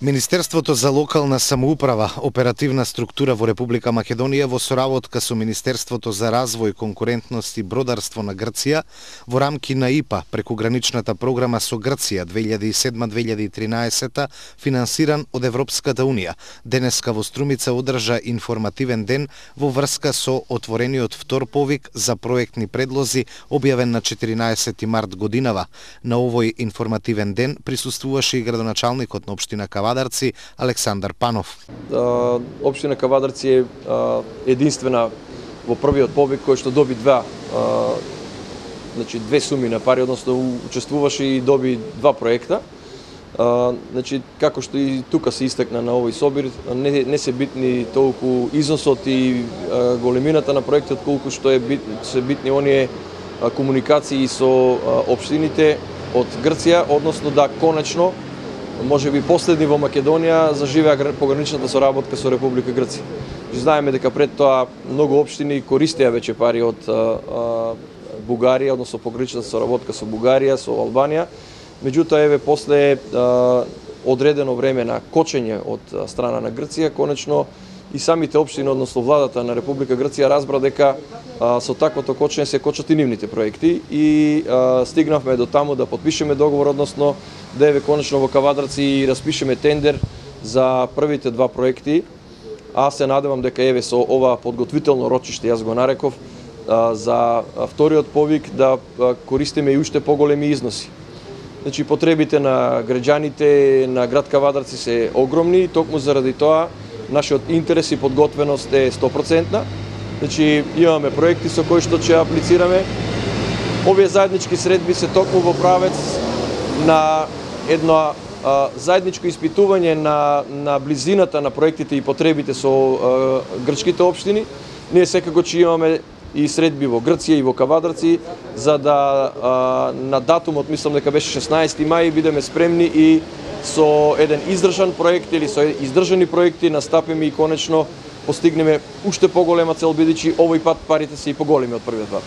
Министерството за локална самоуправа, оперативна структура во Република Македонија во соработка со Министерството за развој, конкурентност и бродарство на Грција во рамки на ИПА преку граничната програма со Грција 2007-2013 финансиран од Европската Унија. Денеска во Струмица одржа информативен ден во врска со отворениот втор повик за проектни предлози објавен на 14 март годинава. На овој информативен ден присуствуваше и градоначалникот на општина Кавадарци Александар Панов. Општина Кавадарци е единствена во првиот повик кој што доби две суми на пари, односно учествуваше и доби два проекта. Како што и тука се истакна на овој собир, не се битни толку износот и големината на проектот, колку што се битни оние комуникации со општините од Грција, односно да конечно може би последни во Македонија заживеа пограничната соработка со Република Грција. Знаеме дека пред тоа многу општини користеа веќе пари од Бугарија, односно пограничната соработка со Бугарија, со Албанија. Меѓутоа еве после одредено време на кочење од страна на Грција, конечно и самите општини, односно владата на Република Грција разбра дека со таквото кочење се кочат и нивните проекти и стигнавме до таму да потпишеме договор, односно да еве конечно во Кавадарци распишеме тендер за првите два проекти. Аз се надевам дека еве со ова подготвително рочиште, јас го нареков, за вториот повик да користиме и уште поголеми износи. Потребите на граѓаните на град Кавадарци се огромни и токму заради тоа нашиот интерес и подготвеност е 100%. Имаме проекти со кои што ќе аплицираме. Овие заеднички средби се токму во правец на едно заедничко испитување на близината на проектите и потребите со грчките општини. Ние секако ќе имаме и средби во Грција и во Кавадарци, за да на датумот, мислам дека беше 16 мај, бидеме спремни и со еден издржан проект или со издржани проекти настапиме и конечно постигнеме уште поголема цел, бидејќи овој пат парите се и поголеми од првиот пат.